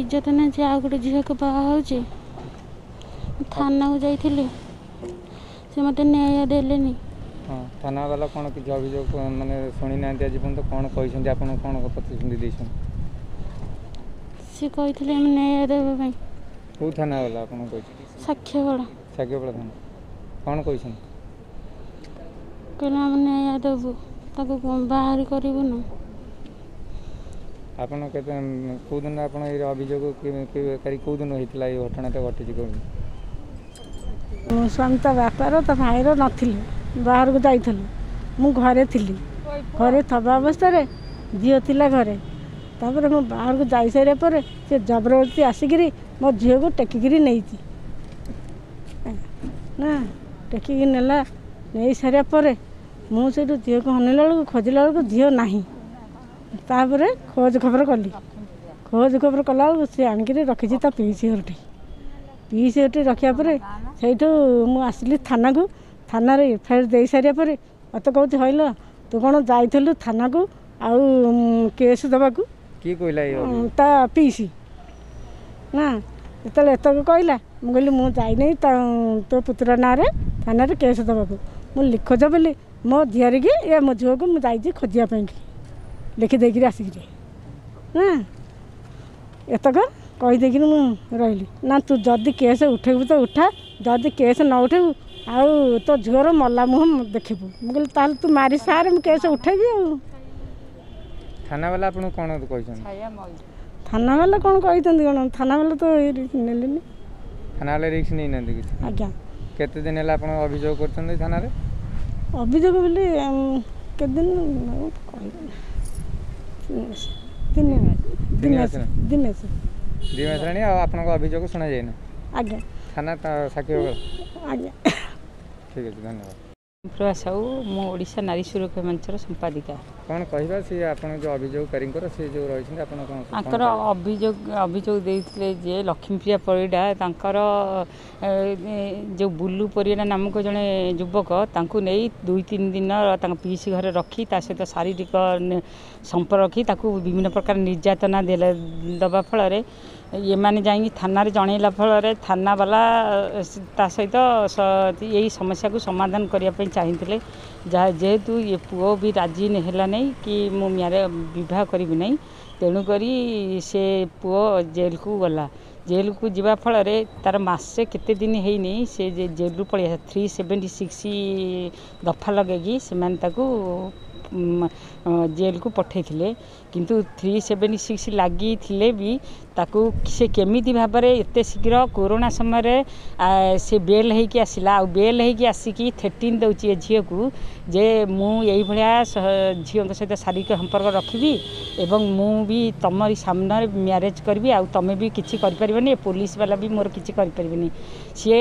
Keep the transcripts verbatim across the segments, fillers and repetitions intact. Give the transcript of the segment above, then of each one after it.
ଇଜ୍ଜତ ନାହିଁ ଯେ ଆଉ ଗୋଟେ ଝିଅକୁ ବାହା ହେଉଛି। ଥାନାକୁ ଯାଇଥିଲି, ସେ ମୋତେ ନ୍ୟାୟ ଦେଲେନି। ହଁ, ଥାନାବାଲା କ'ଣ କିଛି ଅଭିଯୋଗ ମାନେ ଶୁଣି ନାହାନ୍ତି ଆଜି ପର୍ଯ୍ୟନ୍ତ? କ'ଣ କହିଛନ୍ତି ଆପଣ, କ'ଣ ପ୍ରତିଶ୍ରୁତି ଦେଇଛନ୍ତି? ସେ କହିଥିଲେ ଆମେ ନ୍ୟାୟ ଦେବା ପାଇଁ। କେଉଁ ଥାନାବାଲା ଆପଣଙ୍କୁ କହିଛନ୍ତି? ସାକ୍ଷୀଗୋଳ। ସାକ୍ଷୀଗୋପାଳ ଥାନା କ'ଣ କହିଛନ୍ତି? କହିଲେ ଆମେ ନ୍ୟାୟ ଦେବୁ, ତାକୁ ବାହାର କରିବୁନୁ। ଆପଣ କେତେ କେଉଁ ଦିନ ଆପଣ ଏଇ ଅଭିଯୋଗ କେଉଁ ଦିନ ହେଇଥିଲା, ଏଇ ଘଟଣାଟା ଘଟିଛି କେଉଁ? ମୋ ସ୍ୱାମୀ ତା ବାପାର ତା ଭାଇର ନଥିଲେ, ବାହାରକୁ ଯାଇଥିଲୁ। ମୁଁ ଘରେ ଥିଲି। ଘରେ ଥିବା ଅବସ୍ଥାରେ ଝିଅ ଥିଲା ଘରେ। ତାପରେ ମୁଁ ବାହାରକୁ ଯାଇସାରିଲା ପରେ ସେ ଜବରଦସ୍ତି ଆସିକିରି ମୋ ଝିଅକୁ ଟେକିକିରି ନେଇଛି ନା, ଟେକିକି ନେଲା। ନେଇ ସାରିବା ପରେ ମୁଁ ସେଇଠୁ ଝିଅକୁ ଅନେଇଲା ବେଳକୁ, ଖୋଜିଲା ବେଳକୁ ଝିଅ ନାହିଁ। ତାପରେ ଖୋଜ ଖବର କଲି। ଖୋଜ ଖବର କଲା ବେଳକୁ ସେ ଆଣିକିରି ରଖିଛି ତା ପିଇସି ଘରଠି। ପିଇସି ଘରଠି ରଖିବା ପରେ ସେଇଠୁ ମୁଁ ଆସିଲି ଥାନାକୁ। ଥାନାରେ ଏଫ୍ I R ଦେଇ ସାରିବା ପରେ ମୋତେ କହୁଛି, ହଇଲ ତୁ କ'ଣ ଯାଇଥିଲୁ ଥାନାକୁ ଆଉ କେସ୍ ଦେବାକୁ? କିଏ କହିଲା? ତା ପିଇସି ନା। ଯେତେବେଳେ ଏତକ କହିଲା, ମୁଁ କହିଲି ମୁଁ ଯାଇନି ତୋ ପୁତୁରା ନାଁରେ ଥାନାରେ କେସ୍ ଦେବାକୁ। ମୁଁ ଲିଖୋଜ ବୋଲି ମୋ ଝିଆରିକି ଏ ମୋ ଝିଅକୁ ମୁଁ ଯାଇଛି ଖୋଜିବା ପାଇଁକି, ଲେଖି ଦେଇକିରି ଆସିକିରି ନା। ଏତକ କହିଦେଇକିରି ମୁଁ ରହିଲି ନା। ତୁ ଯଦି କେସ୍ ଉଠେଇବୁ ତ ଉଠା, ଯଦି କେସ୍ ନ ଉଠେଇବୁ ଆଉ ତୋ ଝିଅର ମଲା ମୁହଁ ଦେଖିବୁ। ମୁଁ କହିଲି ତାହେଲେ ତୁ ମାରି ସାରେ, ମୁଁ କେସ୍ ଉଠେଇବି। ଆଉ ଥାନାବାଲା ଆପଣଙ୍କୁ କ'ଣ କହିଛନ୍ତି? ଥାନାବାଲା କ'ଣ କହିଛନ୍ତି କ'ଣ, ଥାନାବାଲା ତ ରିସ୍କ ନେଲେନି। ଥାନାବାଲା ରିସ୍କ ନେଇନାହାନ୍ତି କିଛି? ଆଜ୍ଞା। କେତେ ଦିନ ହେଲା ଆପଣ ଅଭିଯୋଗ କରୁଛନ୍ତି ଥାନାରେ? ଅଭିଯୋଗ ବୋଲି କେତେ ଦିନ କହିବି, ତିନି ମାସ, ଦୁଇ ମାସ, ଦୁଇ ମାସ। ଦୁଇ ମାସ ହେଲାଣି ଆଉ ଆପଣଙ୍କ ଅଭିଯୋଗ ଶୁଣାଯାଇନି? ଆଜ୍ଞା। ଥାନା ସାକ୍ଷୀ? ଆଜ୍ଞା। ଠିକ୍ ଅଛି, ଧନ୍ୟବାଦ। ପ୍ରଭା ସାହୁ, ମୁଁ ଓଡ଼ିଶା ନାରୀ ସୁରକ୍ଷା ମଞ୍ଚର ସମ୍ପାଦିକା। କ'ଣ କହିବା, ସେ ଆପଣ ଯେଉଁ ଅଭିଯୋଗକାରୀଙ୍କର ସେ ଯେଉଁ ରହିଛନ୍ତି, ଆପଣ କ'ଣ ତାଙ୍କର ଅଭିଯୋଗ ଅଭିଯୋଗ ଦେଇଥିଲେ ଯେ ଲକ୍ଷ୍ମୀପ୍ରିୟା ପରିଡ଼ା ତାଙ୍କର ଯେଉଁ ବୁଲୁ ପରିଡ଼ା ନାମକ ଜଣେ ଯୁବକ, ତାଙ୍କୁ ନେଇ ଦୁଇ ତିନି ଦିନ ତାଙ୍କ ପିଇସି ଘରେ ରଖି ତା ସହିତ ଶାରୀରିକ ସମ୍ପର୍କ ରଖି ତାକୁ ବିଭିନ୍ନ ପ୍ରକାର ନିର୍ଯାତନା ଦେଲେ। ଦେବା ଫଳରେ ଏମାନେ ଯାଇକି ଥାନାରେ ଜଣେଇଲା ଫଳରେ ଥାନାବାଲା ତା ସହିତ ଏଇ ସମସ୍ୟାକୁ ସମାଧାନ କରିବା ପାଇଁ ଚାହିଁଥିଲେ। ଯାହା ଯେହେତୁ ଏ ପୁଅ ବି ରାଜି ହେଲା ନାହିଁ କି ମୁଁ ମ୍ୟାରେ ବିବାହ କରିବି ନାହିଁ, ତେଣୁକରି ସେ ପୁଅ ଜେଲକୁ ଗଲା। ଜେଲକୁ ଯିବା ଫଳରେ ତାର ମାସେ କେତେ ଦିନ ହେଇନି, ସେ ଜେଲରୁ ପଳେଇ ଆସିଲା। ଥ୍ରୀ ସେଭେଣ୍ଟି ସିକ୍ସ ଦଫା ଲଗେଇକି ସେମାନେ ତାକୁ ଜେଲକୁ ପଠାଇଥିଲେ। କିନ୍ତୁ ଥ୍ରୀ ସେଭେଣ୍ଟି ସିକ୍ସ ଲାଗିଥିଲେ ବି ତାକୁ ସେ କେମିତି ଭାବରେ ଏତେ ଶୀଘ୍ର କୋରୋନା ସମୟରେ ସେ ବେଲ୍ ହେଇକି ଆସିଲା, ଆଉ ବେଲ୍ ହେଇକି ଆସିକି ଥ୍ରେଟନିଂ ଦେଉଛି ଏ ଝିଅକୁ ଯେ ମୁଁ ଏଇଭଳିଆ ଝିଅଙ୍କ ସହିତ ଶାରୀରିକ ସମ୍ପର୍କ ରଖିବି ଏବଂ ମୁଁ ବି ତମରି ସାମ୍ନାରେ ମ୍ୟାରେଜ୍ କରିବି, ଆଉ ତମେ ବି କିଛି କରିପାରିବନି, ଏ ପୋଲିସ ବାଲା ବି ମୋର କିଛି କରିପାରିବେନି। ସିଏ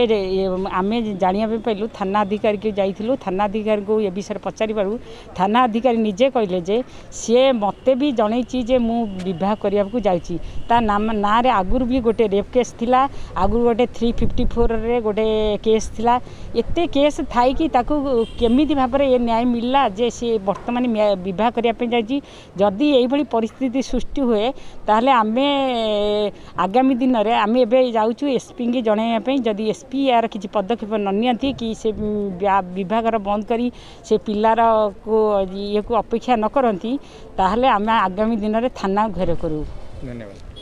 ଆମେ ଜାଣିବା ପାଇଁ ପାଇଲୁ, ଥାନା ଅଧିକାରୀକୁ ଯାଇଥିଲୁ। ଥାନା ଅଧିକାରୀଙ୍କୁ ଏ ବିଷୟରେ ପଚାରିବାରୁ ଥାନା ଅଧିକାରୀ ନିଜେ କହିଲେ ଯେ ସିଏ ମୋତେ ବି ଜଣେଇଛି ଯେ ମୁଁ ବିବାହ କରିବାକୁ ଯାଉଛି। ତା ନାମ ନାଁରେ ଆଗରୁ ବି ଗୋଟେ ରେପ୍ କେସ୍ ଥିଲା, ଆଗରୁ ଗୋଟେ ଥ୍ରୀ ଫିଫ୍ଟି ଫୋର୍ରେ ଗୋଟେ କେସ୍ ଥିଲା। ଏତେ କେସ୍ ଥାଇକି ତାକୁ କେମିତି ଭାବରେ ଏ ନ୍ୟାୟ ମିଳିଲା ଯେ ସିଏ ବର୍ତ୍ତମାନ ବିବାହ କରିବା ପାଇଁ ଯାଉଛି? ଯଦି ଏଇଭଳି ପରିସ୍ଥିତି ସୃଷ୍ଟି ହୁଏ, ତାହେଲେ ଆମେ ଆଗାମୀ ଦିନରେ ଆମେ ଏବେ ଯାଉଛୁ ଏସ୍ପିଙ୍କି ଜଣାଇବା ପାଇଁ। ଯଦି ଏସ୍ ପି ଏହାର କିଛି ପଦକ୍ଷେପ ନ ନିଅନ୍ତି କି ସେ ବିବାହଘର ବନ୍ଦ କରି ସେ ପିଲାରକୁ ଇଏକୁ ଅପେକ୍ଷା ନ କରନ୍ତି, ତାହେଲେ ଆମେ ଆଗାମୀ ଦିନରେ ଥାନା ଘେରାଉ କରିବୁ। ଧନ୍ୟବାଦ।